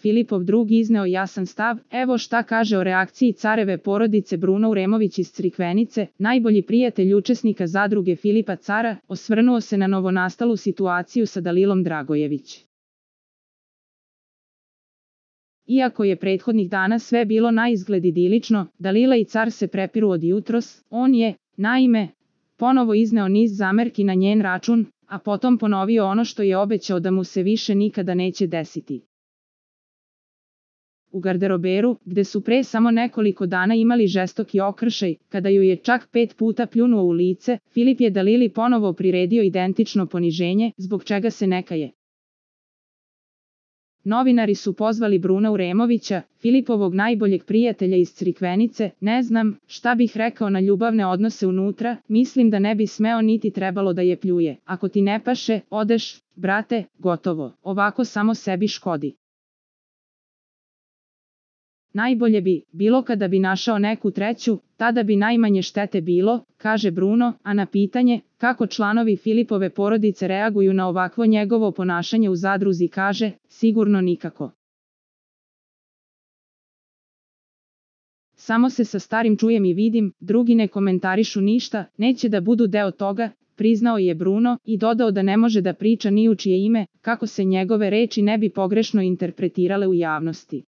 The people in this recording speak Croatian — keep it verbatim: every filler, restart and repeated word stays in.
Filipov drug izneo jasan stav, evo šta kaže o reakciji careve porodice Bruno Uremović iz Crikvenice, najbolji prijatelj učesnika zadruge Filipa Cara, osvrnuo se na novonastalu situaciju sa Dalilom Dragojević. Iako je prethodnih dana sve bilo naizgled idilično, Dalila i Car se prepiru od jutros, on je, naime, ponovo izneo niz zamerki na njen račun, a potom ponovio ono što je obećao da mu se više nikada neće desiti. U garderoberu, gde su pre samo nekoliko dana imali žestoki okršaj, kada ju je čak pet puta pljunuo u lice, Filip je Dalili ponovo priredio identično poniženje, zbog čega se ne kaje. Novinari su pozvali Bruna Uremovića, Filipovog najboljeg prijatelja iz Crikvenice, ne znam šta bih rekao na ljubavne odnose unutra, mislim da ne bi smeo niti trebalo da je pljuje. Ako ti ne paše, odeš, brate, gotovo, ovako samo sebi škodi. Najbolje bi bilo kada bi našao neku treću, tada bi najmanje štete bilo, kaže Bruno, a na pitanje kako članovi Filipove porodice reaguju na ovakvo njegovo ponašanje u zadruzi kaže, sigurno nikako. Samo se sa starim čujem i vidim, drugi ne komentarišu ništa, neće da budu deo toga, priznao je Bruno i dodao da ne može da priča ni u čije ime, kako se njegove reči ne bi pogrešno interpretirale u javnosti.